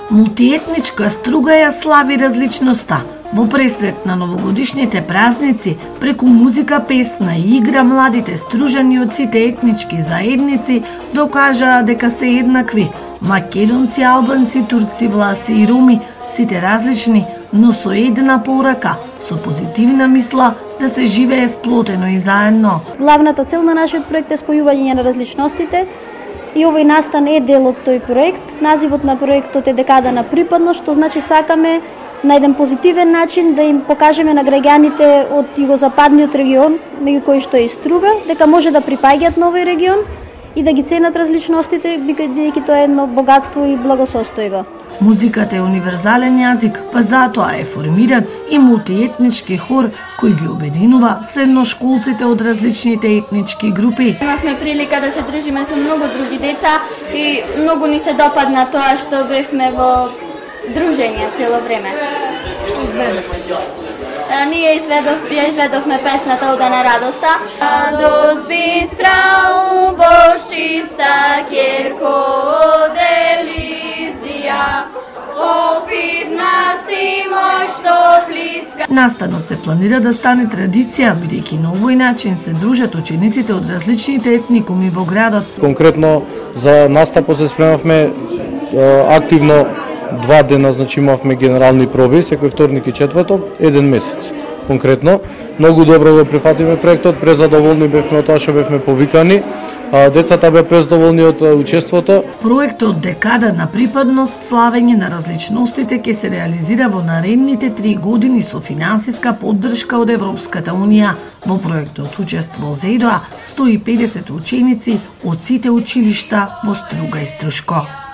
Мултиетничка Струга ја слави различноста. Во пресрет на новогодишните празници, преку музика, песна и игра, младите стружани од сите етнички заедници докажаа дека се еднакви. Македонци, албанци, турци, власи и роми, сите различни, но со една порака, со позитивна мисла да се живее сплотено и заедно. Главната цел на нашиот проект е спојување на различностите и овој настан е дел од тој проект. Називот на проектот е Декада на припадност, што значи сакаме на еден позитивен начин да им покажеме на граѓаните од југозападниот регион, меѓу кои што е и Струга, дека може да припаѓаат на овој регион и да ги ценат различностите, бидејќи тоа е едно богатство и благосостојба. Музиката е универзален јазик, па затоа е формиран и мултиетнички хор кој ги обединува средношколците од различните етнички групи. Имавме прилика да се дружиме со многу други деца и многу ни се допадна тоа што бевме во дружење цело време. Што изведовте? Ние ја изведовме песната Ода на радоста. Радост бистра у бошчиста керко делизија, опивна си мој што плиска. Настанот се планира да стане традиција, бидејќи на овој начин се дружат учениците од различните етникуми во градот. Конкретно за настапот се спремавме активно 2 дена, значи имавме генерални проби, секој вторник и четврток, 1 месец. Конкретно, многу добро го прифативме проектот, презадоволни бевме од тоа што бевме повикани, децата беа презадоволни од учеството. Проектот Декада на припадност, славење на различностите ќе се реализира во наредните 3 години со финансиска поддршка од Европската Унија. Во проектот учествуваа 150 ученици од сите училишта во Струга и Струшко.